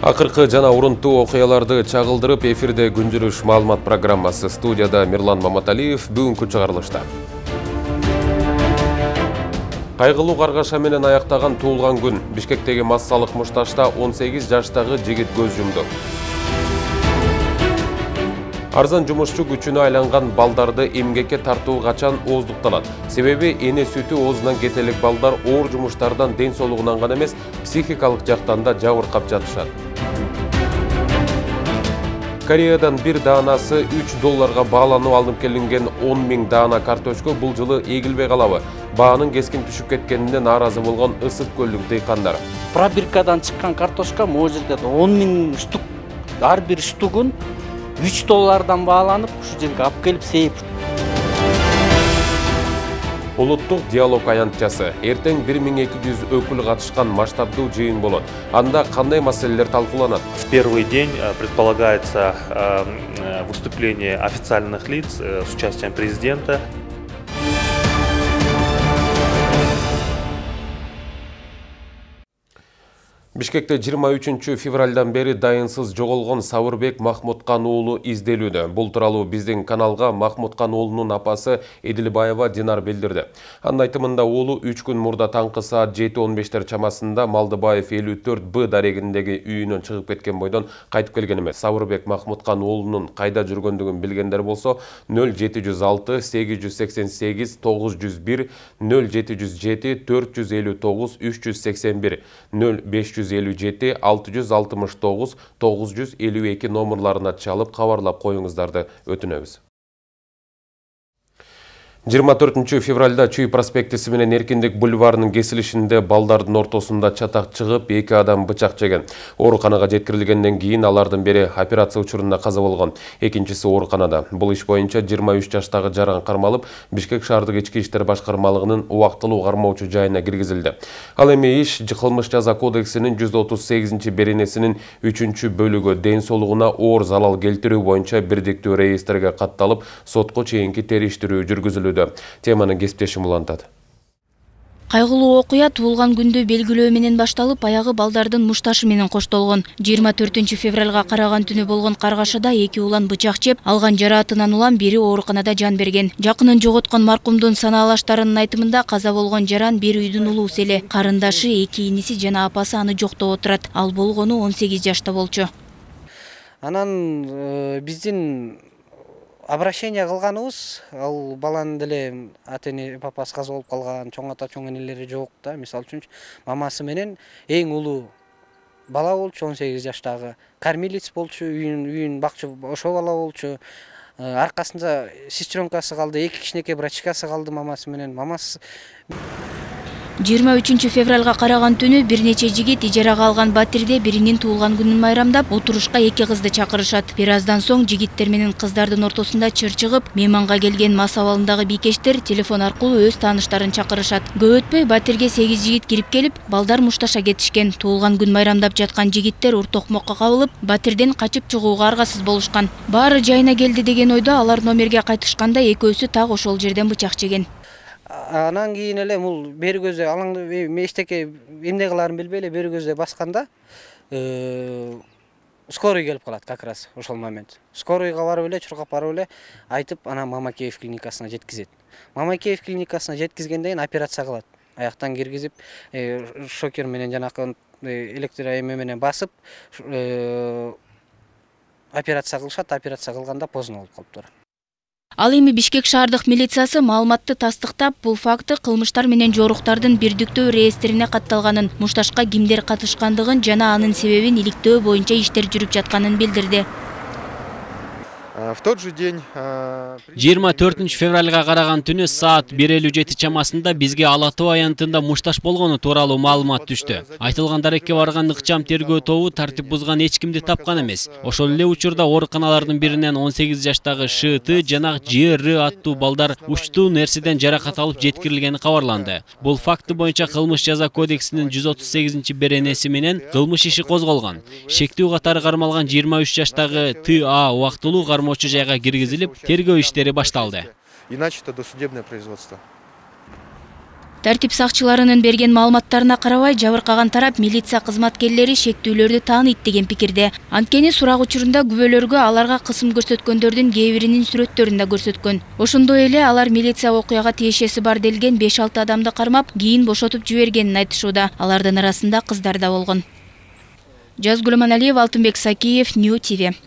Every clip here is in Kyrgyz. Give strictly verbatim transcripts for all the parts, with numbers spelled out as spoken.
Акыркы жана урунтуу окуяларды чагылдырып эфирде күнжүрүш маалымат программасы. Студияда Мирлан Маматалиев. Бүгүнкү чыгарылышта кайгылуу каргаша менен аяктаган туулган күн. Бишкектеги массалык мушташта он сегиз жаштагы жигит көз жумду. Арзан жумушчу күчүнө айланган балдарды эмгекке тартуу качан ооздукталат? Себеби эне сүтү оозунан кете элек балдар оор жумуштардан ден соолугунан гана эмес, психикалык жактан да жабыркап жатышат. Кореядан бир даанасы үч долларга бааланып алынып келинген он миң даана картошка бул жылы эгилбей калабы? Баанын кескин түшүп кеткенине нааразы болгон Ысык көлдүк дыйкандар. Пробиркадан чыккан картошка могу жерде он миң штук, ар бир штугун үч доллардан бааланып, ушу жерге алып келип сейип. Улуттук диалог аянтчасы. Эртең бир миң эки жүз өкүл катышкан масштабдуу жыйын болот. Анда кандай маселелер талкууланат? В первый день предполагается выступление официальных лиц с участием президента. Бишкекте жыйырма үчүнчү февралдан бери дайынсыз жоголгон Сабырбек Махмуткан уулу изделүүдө. Бул тууралуу биздин каналга Махмуткан уулунун апасы Эдилбаева Динар билдирди. Анын айтымында уулу үч күн мурда таңкы саат жети он бештер чамасында Малдыбаев элүү төрт Б дарегиндеги үйүнөн чыгып кеткен бойдон кайтып келген эмес. Сабырбек Махмуткан уулунун кайда жүргөндүгүн билгендер болсо нөл жети жүз алты сегиз жүз сексен сегиз тогуз жүз бир, нөл жети жүз жети төрт жүз элүү тогуз үч жүз сексен бир, нөл беш жүз элүү жети алты жүз алтымыш тогуз тогуз жүз элүү эки номерларына чалып кабарлап коюңуздарды өтүнөбүз. жыйырма төртүнчү февралда Чүй проспектиси менен Эркиндик бульварынын кесилишинде балдардын ортосунда чатак чыгып, эки адам бычак жеген. Ооруканага жеткирилгенден кийин алардын бири операция учурунда каза болгон, экинчиси ооруканада. Бул иш боюнча жыйырма үч жаштагы Жаран кармалып, Бишкек шаардык ички иштер башкармалыгынын убактылуу кармоочу жайына киргизилди. Ал эми иш кылмыш жаза кодексинин жүз отуз сегизинчи беренесинин үчүнчү бөлүгү ден соолугуна оор залал келтирүү боюнча бирдиктүү реестрге катталып, сотко чейинки териштирүү жүргүзүлүүдө. Теманы кесиптешим улантат. Кайгылуу окуя туулган күндү белгилөө менен башталып, аягы балдардын мушташы менен коштолгон. жыйырма төртүнчү февралга караган түнү болгон каргашада эки улан бычак жеп, алган жараатынан улам бири ооруканада жан берген. Жакынын жоготкон маркумдун санаалаштарынын айтымында каза болгон Жаран бир үйдүн улуусу эле. Карындашы, эки иниси жана апасы аны жоктоп отурат. Ал болгону он сегиз жашта болчу. Анан биздин обращение кылганыбыз, ал баланын деле ата-эне папасы каза болуп калган, чоң ата чоң энелери жок да. Мисалы үчүн мамасы менен эң улуу бала болчу, он сегиз жаштагы. Кормилец болчу, үйүн үйүн бакчы ошо бала болчу. Аркасында сестренкасы калды, эки кичинекей брачкасы калды мамасы менен. Мамасы жыйырма үчүнчү февралга караган түнү бир нече жигит ижарага алган батирде биринин туулган күнүн майрамдап, отурушка эки кызды чакырышат. Бир аздан соң жигиттер менен кыздардын ортосунда чыр чыгып, мейманга келген мас абалындагы бийкештер телефон аркылуу өз тааныштарын чакырышат. Көп өтпөй батирге сегиз жигит кирип келип, балдар мушташа кетишкен. Туулган күн майрамдап жаткан жигиттер уртокмокко кабылып, батирден качып чыгууга аргасыз болушкан. Баары жайына келди деген ойдо алар номерге кайтышканда экөөсү так ошол жерден бычак жеген. Анан кийин эле бул бери көзү алаңды мештеке эмне кыларын билбей эле бери көзү басканда скорый келип калат как раз ошол момент. Скорыйга барып эле, чуркап барып эле айтып, анан Мамакеев клиникасына жеткизет. Мамакеев клиникасына жеткизгенден кийин операция кылат. Аяктан киргизип, шокер менен жанакы электро эме менен басып операция кылышат. Операция кылганда поздно болуп калыптыр. Ал эми Бишкек шаардык милициясы маалыматты тастыктап, бул факты кылмыштар менен жоруктардын бирдиктөө реестрине катталганын, мушташка кимдер катышкандыгын жана анын себебин иликтөө боюнча иштер жүрүп жатканын билдирди. В тот же день жыйырма төртүнчү февралга караган түнү саат бир элүү жети чамасында бизге Ала Тоо аянтында мушташ болгону тууралуу маалымат түштү. Айтылган дарекке барган ыкчам тергөө тобу тартип бузган эч кимди тапкан эмес. Ошол эле учурда ооруканалардын биринен он сегиз жаштагы Ш Т жана Ж Р аттуу балдар учтуу нерседен жаракат алып жеткирилгени кабарланды. Бул факты боюнча кылмыш жаза кодексинин жүз отуз сегизинчи беренеси менен кылмыш иши козголгон. Шектүү катары кармалган жыйырма үч жаштагы Т А убактылуу кармоочу жайга киргизилип, тергөө иштери башталды. И начато досудебное производство. Тартип сакчыларынын берген маалыматтарына карабай, жабыркаган тарап милиция кызматкерлери шектүүлөрдү тааныйт деген пикирде. Анткени сурак учурунда күбөлөргө аларга кысым көрсөткөндөрдүн кээ биринин сүрөттөрүн да көрсөткөн. Ошондой эле алар милиция окуяга тиешеси бар делген беш алты адамды кармап, кийин бошотуп жибергенин айтышууда. Алардын арасында кыздар да болгон. Жазгүл Аманалиева, Алтынбек Сакиев, Нью ти ви.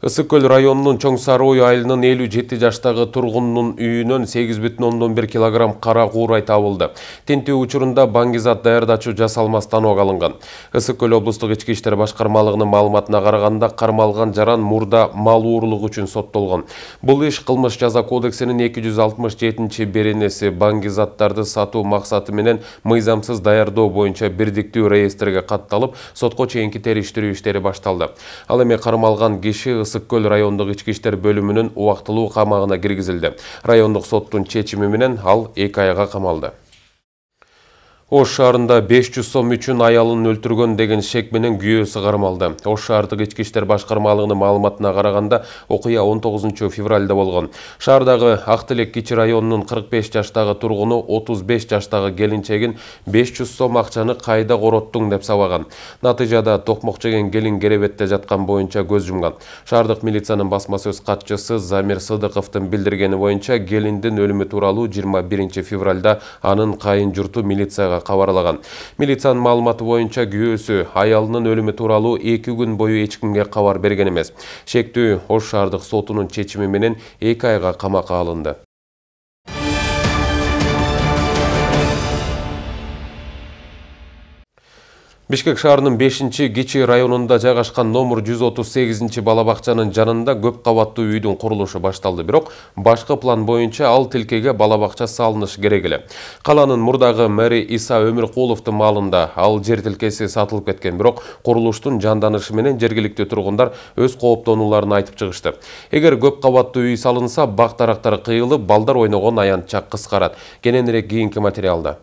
Ысык көл районунун Чоң Сарыой айылынын элүү жети жаштагы тургунунун үйүнөн сегиз бүтүн ондон бир килограмм кара куурай табылды. Тинтүү учурунда баңгизат даярдачу жасалма станок алынган. Ысык көл облустук ички иштер башкармалыгынын маалыматына караганда, кармалган жаран мурда мал уурлугу үчүн соттолгон. Бул иш кылмыш жаза кодексинин эки жүз алтымыш жетинчи беренеси баңгизаттарды сатуу максаты менен мыйзамсыз даярдоо боюнча бирдиктүү реестрге катталып, сотко чейинки териштирүү иштери башталды. Ал эми кармалган киши Ысык көл райондук ички иштер бөлүмүнүн убактылуу камагына киргизилди. Райондук соттун чечими менен ал эки айга камалды. Ош шаарында беш жүз сом үчүн аялын өлтүргөн деген шек менен күйөөсү кармалды. Ош шаардык ички иштер башкармалыгынын маалыматына караганда, окуя он тогузунчу февралда болгон. Шаардагы Ак Тилек кичи районунун кырк беш жаштагы тургуну отуз беш жаштагы келинчегин беш жүз сом акчаны кайда короттуң деп сабаган. Натыйжада токмок жеген келин керебетте жаткан боюнча көз жумган. Шаардык милициянын басма сөз катчысы Замир Сыдыковдун билдиргени боюнча, келиндин өлүмү тууралуу жыйырма биринчи февралда анын кайын журту милицияга кабарлаган. Милициянын маалыматы боюнча, күйөөсү аялынын өлүмү тууралуу эки күн бою эч кимге кабар берген эмес. Шектүү Ош шаардык сотунун чечими менен эки айга камакка алынды. Бишкек шаарынын бешинчи кичи районунда жайгашкан номер жүз отуз сегизинчи бала бакчанын жанында көп кабаттуу үйдүн курулушу башталды, бирок башкы план боюнча ал тилкеге бала бакча салынышы керек эле. Каланын мурдагы мэри Иса Өмүркуловдун маалында ал жер тилкеси сатылып кеткен, бирок курулуштун жанданышы менен жергиликтүү тургундар өз кооптонууларын айтып чыгышты. Эгер көп кабаттуу үй салынса, бак дарактар кыйылып, балдар ойногон аянтча кыскарат. Кененирээк кийинки материалда.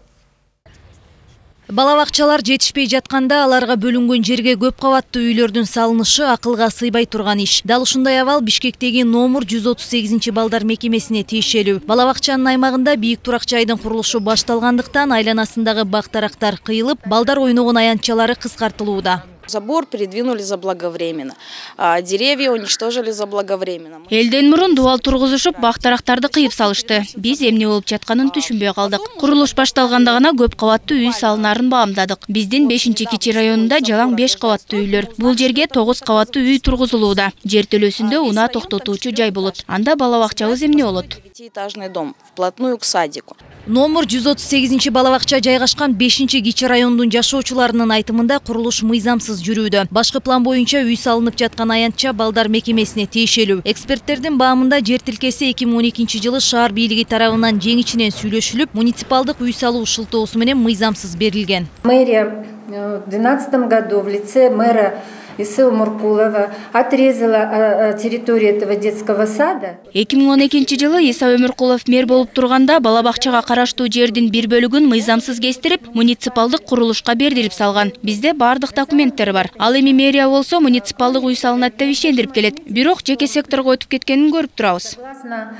Бала бакчалар жетишпей жатканда аларга бөлүнгөн жерге көп кабаттуу үйлөрдүн салынышы акылга сыйбай турган иш. Дал ушундай абал Бишкектеги номер жүз отуз сегизинчи балдар мекемесине тиешелүү. Бала бакчанын аймагында бийик турак жайдын курулушу башталгандыктан айланасындагы бак дарактар кыйылып, балдар ойногон аянтчалары кыскартылууда. Забор передвинули заблаговременно, а деревья уничтожили заблаговременно. Элден мурун дубал тургузушуп, бак дарактарды кыйып салышты. Биз эмне болуп жатканын түшүнбөй калдык. Курулуш башталганда гана көп кабаттуу үй салынарын баамдадык. Биздин бешинчи кичи районунда жалаң беш кабаттуу үйлөр. Бул жерге тогуз кабаттуу үй тургузулууда. Жер төлөөсүндө унаа токтотуучу жай болот. Анда бала бакчабыз эмне болот? Девятиэтажный дом вплотную к садику. Номер жүз отуз сегизинчи бала бакча жайгашкан бешинчи кичи райондун жашоочуларынын айтымында курулуш мыйзамсыз жүрүүдө. Башкы план боюнча үй салынып жаткан аянтча балдар мекемесине тиешелүү. Эксперттердин баамында жер тилкеси эки миң он экинчи жылы шаар бийлиги тарабынан жеңичинен сүйлөшүлүп, муниципалдык үй салуу шылтоосу менен мыйзамсыз берилген. Мэрия в две тысячи двенадцатом году в лице мэра Иса Өмүркулова отрезала территорию этого детского сада. эки миң он экинчи жылы Иса Өмүркулов мэр болуп турганда бала бакчага караштуу жердин бир бөлүгүн мыйзамсыз кестирип, муниципалдык курулушка бердирип салган. Бизде бардык документтер бар. Ал эми мэрия болсо муниципалдык үй салынат деп ишендирип келет. Бирок жеке секторго өтүп кеткенин көрүп турабыз. Согласно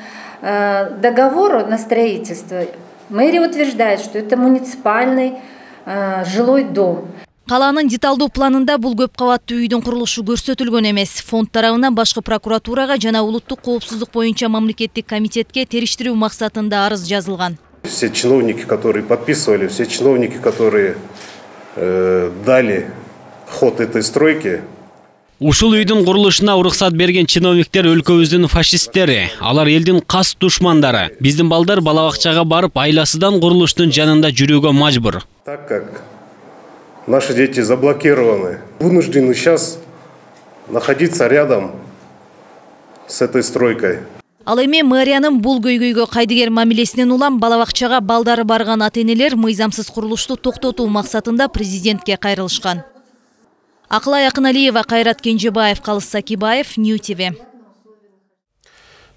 договору на строительство, мэрия утверждает, что это муниципальный жилой дом. Каланын деталдуу планында бул көп кабаттуу үйдүн курулушу көрсөтүлгөн эмес. Фонд тарабынан башкы прокуратурага жана улуттук коопсуздук боюнча мамлекеттик комитетке териштирүү максатында арыз жазылган. Все чиновники, которые подписывали, все чиновники, которые э, дали ход этой стройке. Ушул үйдүн курулушуна уруксат берген чиновниктер өлкөбүздүн фашисттери, алар элдин кас душмандары. Биздин балдар бала бакчага барып, айласыдан курулуштун жанында жүрүүгө мажбур. Так как наши дети заблокированы, вынуждены сейчас находиться рядом с этой стройкой. Ал эми мэриянын бул көйгөйгө кайдыгер мамилесинен улам бала бакчага балдары барган ата-энелер мыйзамсыз курулушту токтотуу максатында президентке кайрылышкан. Акылай Акыналиева, Кайрат Кенжебаев, Калыс Сакибаев, Нью ти ви.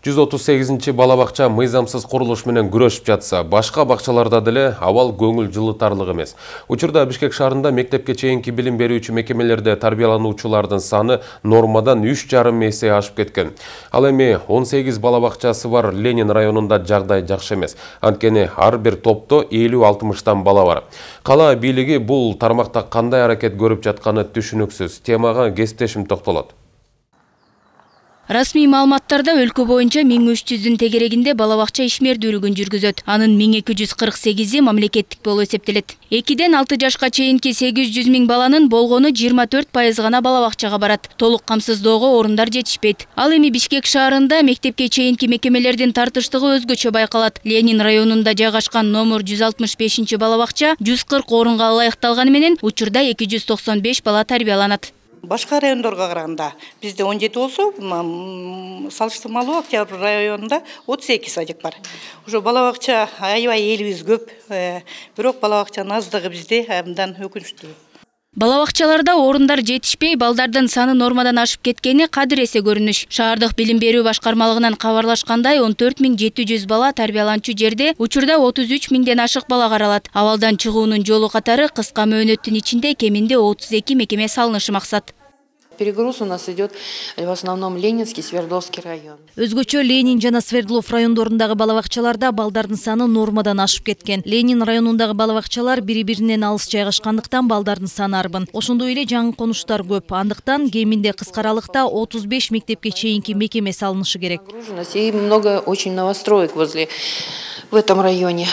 жүз отуз сегизинчи бала бакча мыйзамсыз курулуш менен күрөшүп жатса, башка бакчаларда деле абал көңүл жылытарлык эмес. Учурда Бишкек шаарында мектепке чейинки билим берүүчү мекемелерде тарбиялануучулардын саны нормадан үч жарым эсе ашып кеткен. Ал эми он сегиз бала бакчасы бар Ленин районунда жагдай жакшы эмес. Анткени ар бир топто элүү алтымыштан бала бар. Кала бийлиги бул тармакта кандай аракет көрүп жатканы түшүнүксүз. Темага кесиптешим токтолот. Расмий маалыматтарда өлкө боюнча миң үч жүздүн тегерегинде бала бакча ишмердүүлүгүн жүргүзөт. Анын миң эки жүз кырк сегизи мамлекеттик болуп эсептелет. экиден алты жашка чейинки сегиз жүз миң баланын болгону жыйырма төрт пайыз гана бала бакчага барат. Толук камсыздоого орундар жетишпейт. Ал эми Бишкек шаарында мектепке чейинки мекемелердин тартыштыгы өзгөчө байкалат. Ленин районунда жайгашкан номер жүз алтымыш бешинчи бала бакча жүз кырк орунга ылайыкталганы менен учурда эки жүз токсон беш бала тарбияланат. Башка райондорго караганда бизде он жети болсо, салыштырмалуу Октябрь районунда отуз эки садик бар. Ошо бала бакча аябай элибиз көп, бирок бала бакчанын аздыгы бизде абдан өкүнүчтүү. Бала бакчаларда орундар жетишпей, балдардын саны нормадан ашып кеткени кадыр эсе көрүнүш. Шаардык билим берүү башкармалыгынан кабарлашкандай, он төрт миң жети жүз бала тарбияланчу жерде учурда отуз үч миңден ашык бала каралат. Абалдан чыгуунун жолу катары кыска мөөнөттүн ичинде кеминде отуз эки мекеме салынышы максат. Перегруз у нас идет в основном Ленинский, Свердловский район. Өзгөчө Ленин жана Свердлов райондорундагы бала бакчаларда балдардын саны нормадан ашып кеткен. Ленин районундагы бала бакчалар бири-биринен алыс жайгашкандыктан балдардын саны арбын. Ошондой эле жаңы конуштар көп. Андыктан кеминде кыска аралыкта отуз беш мектепке чейинки мекеме салынышы керек. И много очень новостроек возле в этом районе.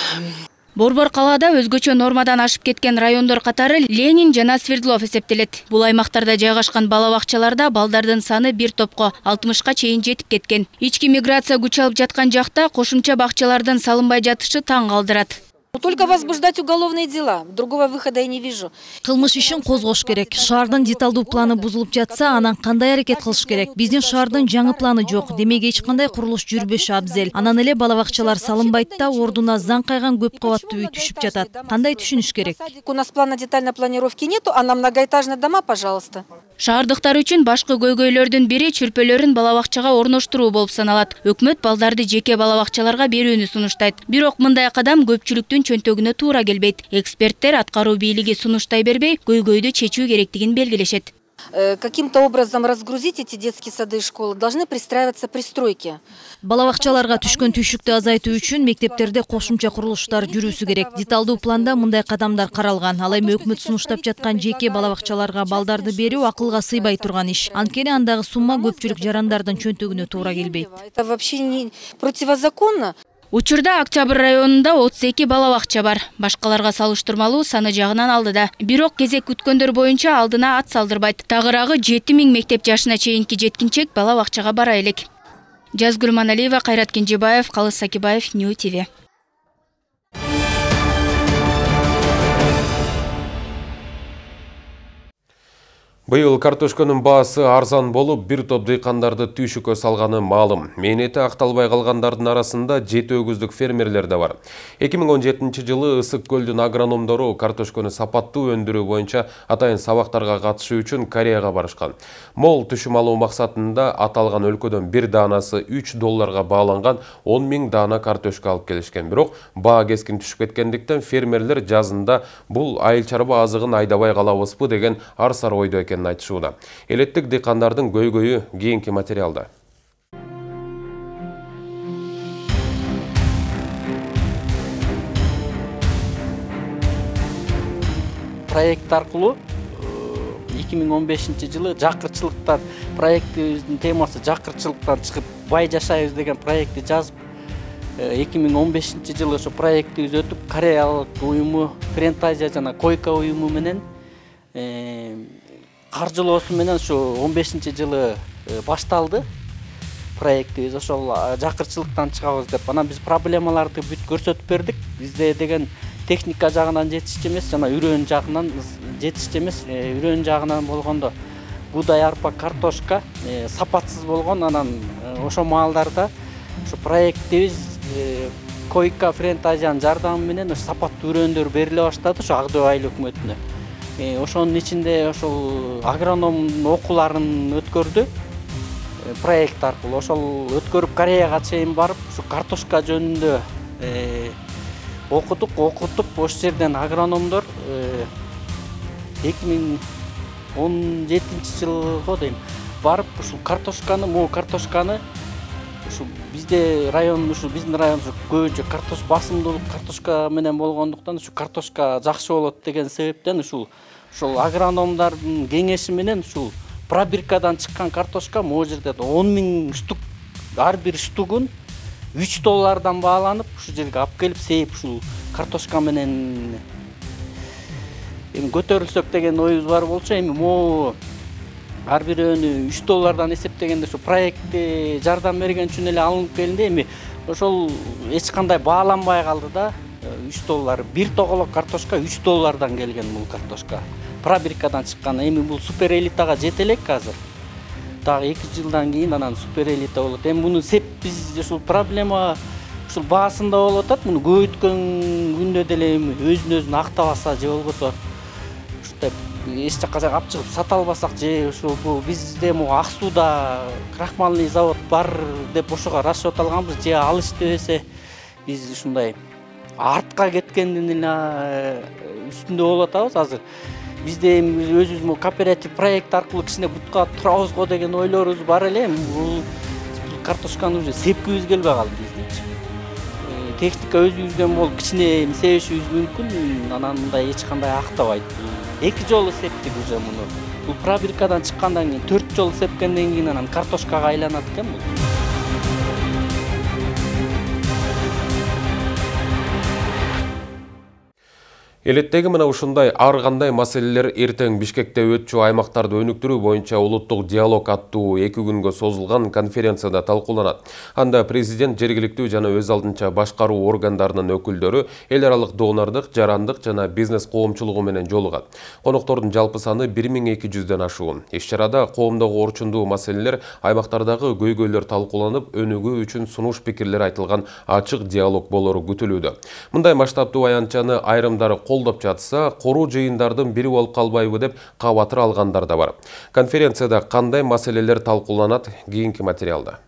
Борбор калаада өзгөчө нормадан ашып кеткен райондор катары Ленин жана Свердлов эсептелет. Бул аймактарда жайгашкан бала бакчаларда балдардын саны бир топко алтымышка чейин жетип кеткен. Ички миграция күч алып жаткан жакта кошумча бакчалардын салынбай жатышы таң калтырат. Только возбуждать уголовные дела. Другого выхода я не вижу. Кылмыш ишин козгош керек. Шаардын деталдуу планы бузулуп жатса, анан кандай аракет кылыш керек? Биздин шаардын жаңы планы жок. Демек эч кандай курулуш жүрбөшү абзел. Анан эле бала бакчалар салынбайт да, ордуна заң кайган көп кабаттуу үй түшүп жатат. Кандай түшүнүш керек? У нас плана детальной планировки нету, а на многоэтажные дома, пожалуйста. Шаардыктар үчүн башкы көйгөйлөрдүн бири чүрпөлөрүн бала бакчага орноштуруу болуп саналат. Өкмөт балдарды жеке бала бакчаларга берүүнү сунуштайт. Бирок мындай кадам көпчүлүктүн чөнтөгүнө туура келбейт. Эксперттер аткаруу бийлиги сунуштай бербей, көйгөйдү чечүү керектигин белгилешет. Каким-то образом разгрузить эти детские сады и школы, должны пристраиваться пристройки. Бала бакчаларга түшкөн түйшүктү азайтуу үчүн мектептерде кошумча курулуштар жүрүүсү керек. Деталдуу планда мындай кадамдар каралган. Ал эми өкмөт сунуштап жаткан жеке бала бакчаларга балдарды берүү акылга сыйбай турган иш. Анткени андагы сумма көпчүлүк жарандардын чөнтөгүнө туура келбейт. Это вообще не противозаконно. Учурда Октябрь районунда отуз эки бала бакча бар. Башкаларга салыштырмалуу саны жагынан алдыда. Бирок кезек күткөндөр боюнча алдына ат салдырбайт. Тагыраагы жети миң мектеп жашына чейинки жеткинчек бала бакчага бара элек. Жазгүл Маналиева, Кайрат Кенжебаев, Калыс Сакибаев, Нью ТВ. Быйыл картошканын баасы арзан болуп, бир топ дыйкандарды түйшүккө салганы маалым. Мээнети акталбай калгандардын арасында жети өгүздүк фермерлер да бар. эки миң он жетинчи жылы Ысык көлдүн агрономдору картошканы сапаттуу өндүрүү боюнча атайын сабактарга катышуу үчүн Кореяга барышкан. Мол түшүм алуу максатында аталган өлкөдөн бир даанасы үч долларга бааланган он миң даана картошка алып келишкен. Бирок баа кескин түшүп кеткендиктен фермерлер жазында бул айыл чарба азыгын айдабай калабызбы деген ар-сар ойдо экенин айтышууда. Элеттик дыйкандардын көйгөйү кийинки материалда. Проект аркылуу эки миң он бешинчи жылы жакырчылыктан проектибиздин темасы жакырчылыктан чыгып бай жашайбыз деген проектти жазып, эки миң он бешинчи жылы ошо проектибиз өтүп, Кореялык уюму, Френтазия жана Койка уюму менен каржылоосу менен ушу он бешинчи жылы башталды проектибиз. Ошол жакырчылыктан чыгабыз деп, анан биз проблемаларды бүт көрсөтүп бердик. Бизде деген техника жагынан жетишчү эмес, жана үрөөн жагынан жетишчү эмес. Үрөөн жагынан болгондо буудай, арпа, картошка сапатсыз болгон. Анан ошол маалдарда ушу проектибиз Койка, Френтазиянын жардамы менен сапаттуу үрөөндөр бериле баштады ошо Ак Дөбө айыл өкмөтүнө. Ошонун ичинде ошол агроном окууларын өткөрдү. проект аркылуу ошол өткөрүп Кореяга чейин барып ушу картошка жөнүндө окудук, окутуп ошол жерден агрономдор эки миң он жетинчи жылго дейм барып ушул картошканы, могу картошканы ушу бизде район, ушу биздин район көбүнчө картош басымдуулук картошка менен болгондуктан ушу картошка жакшы болот деген себептен ушул ушул агрономдордун кеңеши менен ушул пробиркадан чыккан картошка могу жерде он миң штук, ар бир штугун үч доллардан бааланып ушул жерге алып келип сейип ушул картошка менен эми көтөрүлсөк деген оюбуз бар болчу. Эми могу ар бирөөнү үч доллардан эсептегенде ушу проектти жардам берген үчүн эле алынып келинди. Эми ошол эч кандай бааланбай калды да. үч доллар бир тоголок картошка үч доллардан келген бул картошка. Пробиркадан чыккан. Эми бул супер элитага жете элек азыр. Дагы эки жылдан кийин анан супер элита болот. Эми муну сеп биз ушул проблема ушул баасында болуп атат. Муну көбөйткөн күндө деле эми өзүн өзүн актабаса же болбосо ушундай эч жакка алып чыгып сата албасак же ушул бизде могу Ак сууда крахмальный завод бар деп ошого расчет алганбыз, же ал иштебесе биз ушундай артка кеткендин эле үстүндө болуп атабыз азыр. Бизде эми өзүбүз кооператив проект аркылуу кичине бутка турабыз го деген ойлорубуз бар эле. Бул картошканы уже сепкибиз келбей калды биздинчи. Техника өзүбүздөн болуп кичине себишибиз мүмкүн, анан мындай эч кандай актабайт. Эки жолу септик уже муну. Бул пробиркадан чыккандан кийин төрт жолу сепкенден кийин анан картошкага айланат экен бул. Элеттеги мына ушундай ар кандай маселелер эртең Бишкекте өтчү аймактарды өнүктүрүү боюнча улуттук диалог аттуу эки күнгө созулган конференцияда талкууланат. Анда президент жергиликтүү жана өз алдынча башкаруу органдарынын өкүлдөрү эл аралык донордук, жарандык жана бизнес коомчулугу менен жолугат. Коноктордун жалпы саны бир миң эки жүздөн ашуун. Иш-чарада коомдогу орчундуу маселелер, аймактардагы көйгөйлөр талкууланып, өнүгүү үчүн сунуш пикирлер айтылган ачык диалог болору күтүлүүдө. Мындай масштабтуу аянтчаны айрымдары колдоп жатса, коруу жыйындардын бири болуп калбайбы деп кабатыр алгандар да бар. Конференцияда кандай маселелер талкууланат, кийинки материалда.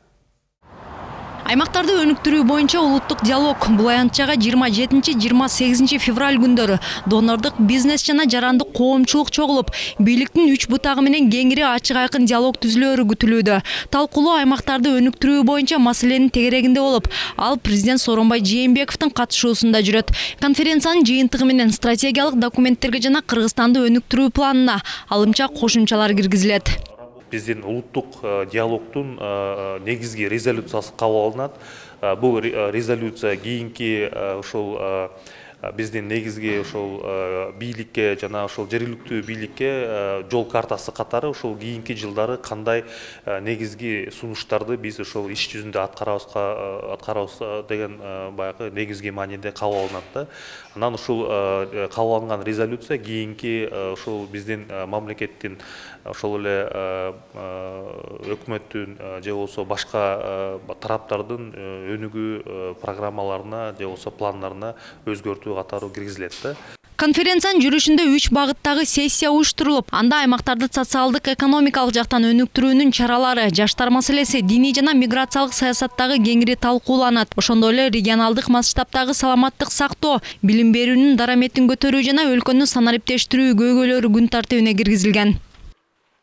Аймактарды өнүктүрүү боюнча улуттук диалог бул аянтчага жыйырма жетинчи — жыйырма сегизинчи февраль күндөрү донордук, бизнес жана жарандык коомчулук чогулуп, бийликтин үч бутагы менен кеңири ачык айкын диалог түзүлөрү күтүлүүдө. Талкуулоо аймактарды өнүктүрүү боюнча маселенин тегерегинде болуп, ал президент Сооронбай Жээнбековдун катышуусунда жүрөт. Конференциянын жыйынтыгы менен стратегиялык документтерге жана Кыргызстанды өнүктүрүү планына алымча кошумчалар киргизилет. Биздин улуттук диалогдун негизги резолюциясы кабыл алынат. Бул резолюция кийинки ушул биздин негизги ушул бийликке жана ушул жергиликтүү бийликке жол картасы катары ушул кийинки жылдары кандай негизги сунуштарды биз ушул иш жүзүндө аткарабызга аткарабыз деген баягы негизги мааниде кабыл алынат да. Анан ушул кабыл алынган резолюция кийинки ушул биздин мамлекеттин ошол эле өкмөттүн же болбосо башка тараптардын өнүгүү программаларына же болбосо пландарына өзгөртүү катары киргизилет да. Конференциянын жүрүшүндө үч багыттагы сессия уюштурулуп, анда аймактарды социалдык, экономикалык жактан өнүктүрүүнүн чаралары, жаштар маселеси, диний жана миграциялык саясаттагы кеңири талкууланат. Ошондой эле регионалдык масштабтагы саламаттык сактоо, билим берүүнүн дараметин көтөрүү жана өлкөнү санариптештирүү көйгөйлөрү күн тартибине киргизилген.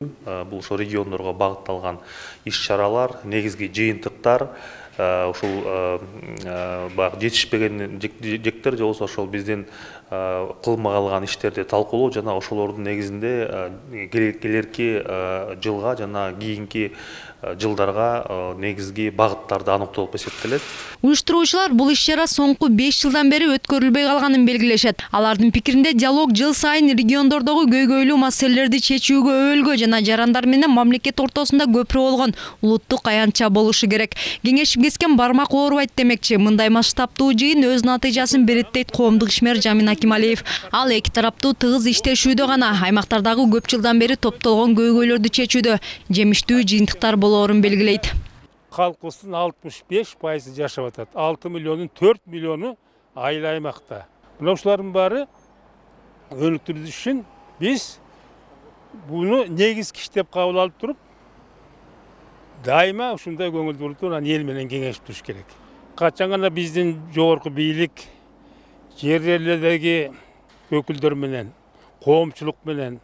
Бул ошо региондорго багытталган иш-чаралар, негизги жыйынтыктар, ушул баягы жетишпеген жектер же болбосо ошол биздин кылмай калган иштерди талкуулоо жана ошолордун негизинде келерки жылга жана кийинки жылдарга негизги багыттарды аныктоо деп эсептелет. Уюштуруучулар бул иш-чара соңку беш жылдан бери өткөрүлбөй калганын белгилешет. Алардын пикиринде диалог жыл сайын региондордогу көйгөйлүү маселелерди чечүүгө өөлгө жана жарандар менен мамлекет ортосунда көпүрө болгон улуттук аянтча болушу керек. Кеңешип кескен бармак оорубайт демекчи. Мындай масштабтуу жыйын өз натыйжасын берет дейт коомдук ишмер Жамин Акималиев. Ал эки тараптуу тыгыз иштешүүдө гана аймактардагы көп жылдан бери топтолгон көйгөйлөрдү чечүүдө жемиштүү жыйынтыктар болоорун белгилейт. Халкыбыздын алтымыш беш пайызы жашап атат. алты миллионун төрт миллиону айыл аймакта. Мына ушулардын баары өнүктүрүү үчүн биз буну негизги иш деп кабыл алып туруп, дайыма ушундай көңүл бурутуп анан эл менен кеңешип туруш керек. Качан гана биздин жогорку бийлик жер жерлердеги өкүлдөр менен, коомчулук менен,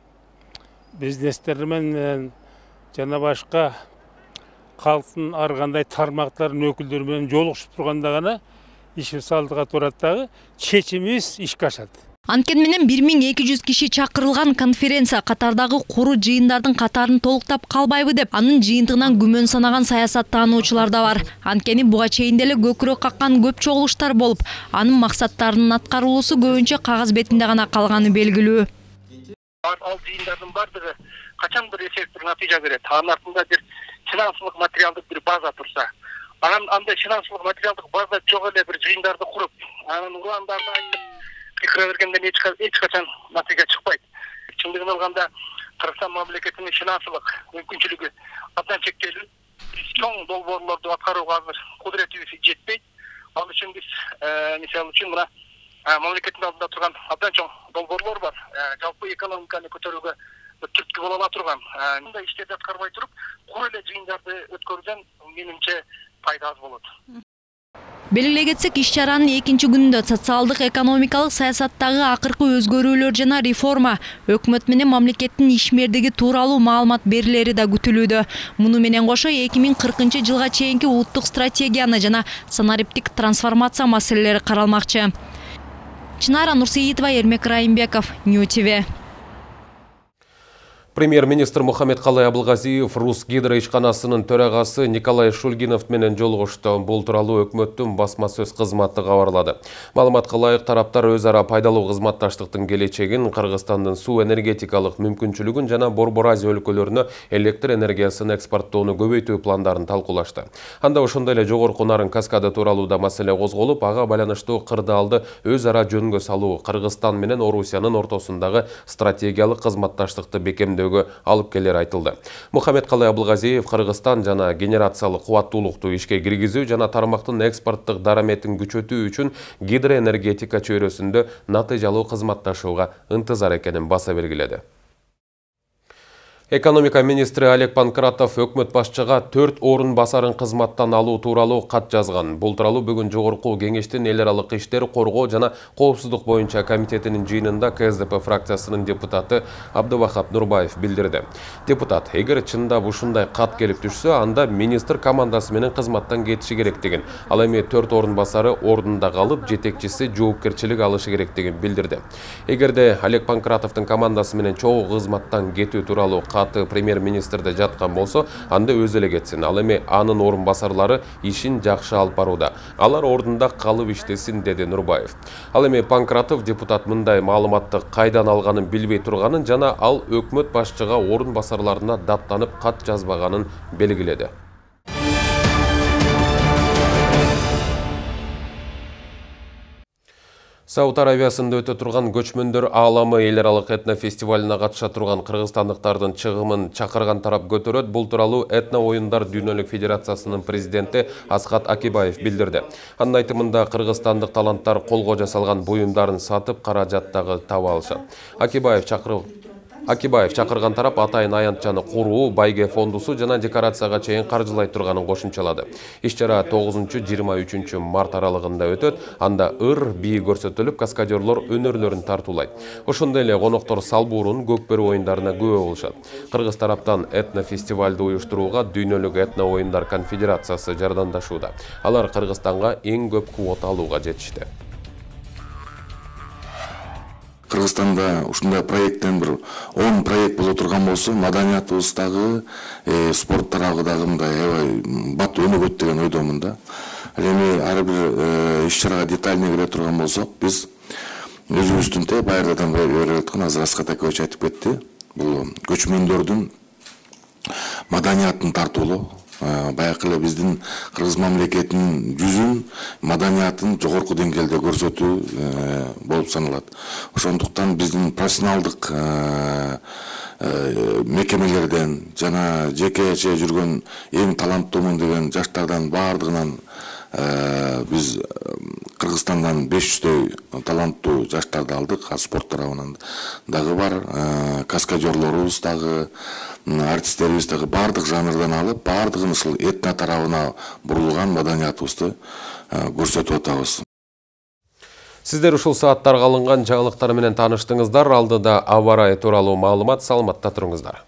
бизнестер менен жана башка калктын ар кандай тармактарынын өкүлдөрү менен жолугушуп турганда гана иш салдыга турат дагы чечимибиз ишке ашат. Анткени менен бир миң эки жүз киши чакырылган конференция катардагы куру жыйындардын катарын толуктап калбайбы деп анын жыйынтыгынан күмөн санаган саясаттануучулар да бар. Анткени буга чейин деле көкүрөк каккан көп чогулуштар болуп, анын максаттарынын аткарылуусу көбүнчө кагаз бетинде гана калганы белгилүү. Ал жыйындардын баардыгы качан бир эффекттик натыйжа берет. Анын артында бир финансылык материалдык бир база турса, анан андай финансылык материалдык база жок эле бир жыйындарды куруп, анан урландарды айтып пикир бергенден эч качан натыйжа чыкпайт. Чындыгын алганда Кыргызстан мамлекетинин финансылык мүмкүнчүлүгү абдан чектелүү. Биз чоң долбоорлорду аткарууга азыр кудуретибиз жетпейт. Ал үчүн биз мисалы үчүн мына мамлекеттин алдында турган абдан чоң долбоорлор бар. Жалпы экономиканы көтөрүүгө түрткү боло ала турган. Мындай иштерди аткарбай туруп, кур эле жыйындарды өткөрүүдөн менимче пайда аз болот. Белгилей кетсек, иш-чаранын экинчи күнүндө социалдык экономикалык саясаттагы акыркы өзгөрүүлөр жана реформа, өкмөт менен мамлекеттин ишмердиги тууралуу маалымат берилери да күтүлүүдө. Муну менен кошо эки миң кыркынчы жылга чейинки улуттук стратегияны жана санариптик трансформация маселелери каралмакчы. Чынара Нурсейитова, Эрмек Райымбеков, Нью ти ви. Премьер-министр Мухаммедкалый Абылгазиев Русгидро ишканасынын төрагасы Николай Шульгинов менен жолугушту. Бул тууралуу өкмөттүн басма сөз кызматы кабарлады. Маалыматка ылайык, тараптар өз ара пайдалуу кызматташтыктын келечегин, Кыргызстандын суу энергетикалык мүмкүнчүлүгүн жана Борбор Азия өлкөлөрүнө электр энергиясын экспорттоону көбөйтүү пландарын талкуулашты. Анда ошондой эле жогорку нарын каскады тууралуу да маселе козголуп, ага байланыштуу кырдаалды өз ара жөнгө салуу, Кыргызстан менен Орусиянын ортосундагы стратегиялык кызматташтыкты бекемдөө алып келер айтылды. Мухаммедкалый Абылгазиев Кыргызстан жана генерациялык кубаттуулукту ишке киргизүү жана тармактын экспорттук дараметин күчөтүү үчүн гидроэнергетика чөйрөсүндө натыйжалуу кызматташууга ынтызар экенин баса белгиледи. Экономика министри Олег Панкратов өкмөт башчыга төрт орун басарын кызматтан алуу тууралуу кат жазган. Бул тууралуу бүгүн жогорку кеңештин эл аралык иштер, коргоо жана коопсуздук боюнча комитетинин жыйынында ка эс дэ пэ фракциясынын депутаты Абдывахап Нурбаев билдирди. Депутат, эгер чындап ушундай кат келип түшсө, анда министр командасы менен кызматтан кетиши керектигин, ал эми төрт орун басары ордунда калып, жетекчиси жоопкерчилик алышы керектигин билдирди. Эгерде Олег Панкратовдун командасы менен чогуу кызматтан кетүү тууралуу каты премьер-министрде жаткан болсо, анда өзү эле кетсин. Ал эми анын орун басарлары ишин жакшы алып барууда. Алар ордунда калып иштесин, деди Нурбаев. Ал эми Панкратов депутат мындай маалыматты кайдан алганын билбей турганын жана ал өкмөт башчыга орун басарларына даттанып кат жазбаганын белгиледи. Сауд Аравиясында өтө турган көчмөндөр ааламы эл аралык этно фестивалына катыша турган кыргызстандыктардын чыгымын чакырган тарап көтөрөт. Бул тууралуу этно оюндар дүйнөлүк федерациясынын президенти Асхат Акибаев билдирди. Анын айтымында кыргызстандык таланттар колго жасалган буюмдарын сатып каражаттагы таба алышат. Акибаев чакырып Акибаев чакырган тарап атайын аянтчаны куруу, байге фондусу жана декорацияга чейин каржылай турганын кошумчалады. Иш-чара тогузунчу жыйырма үчүнчү март аралыгында өтөт. Анда ыр, бии көрсөтүлүп, каскадерлор өнөрлөрүн тартуулайт. Ошондой эле коноктор салбуурун, көкбөрү оюндарына күбө болушат. Кыргыз тараптан этно фестивалды уюштурууга Дүйнөлүк этно оюндар конфедерациясы жардамдашууда. Алар Кыргызстанга эң көп квота алууга жетишти. Кыргызстанда ушундай проекттен бир он проект боло турган болсо, маданиятыбыздагы, спорт тарабы дагы мындай аябай бат өнүгөт деген ойдомун да. Эми ар бир иш-чарага детальный кире турган болсок, биз өзүбүздүн те байырдан бери өткөн азыр Асхат Акибаевич айтып кетти. Бул көчмөндөрдүн маданиятын тартуулоо, баягы эле биздин кыргыз мамлекетинин жүзүн, маданиятын жогорку деңгээлде көрсөтүү болуп саналат. Ошондуктан биздин профессионалдык мекемелерден жана жекече жүргөн эң таланттуумун деген жаштардан баардыгынан Биз Кыргызстандан беш жүздөй таланттуу жаштарды алдык, спорт тарабынан дагы бар, каскадерлорубуз дагы, артисттерибиз дагы баардык жанрдан алып, баардыгын ушул этно тарабына бурулган маданиятыбызды көрсөтүп атабыз. Сиздер ушул сааттарга алынган жаңылыктар менен тааныштыңыздар. Алдыда аба ырайы тууралуу маалымат, саламатта туруңуздар.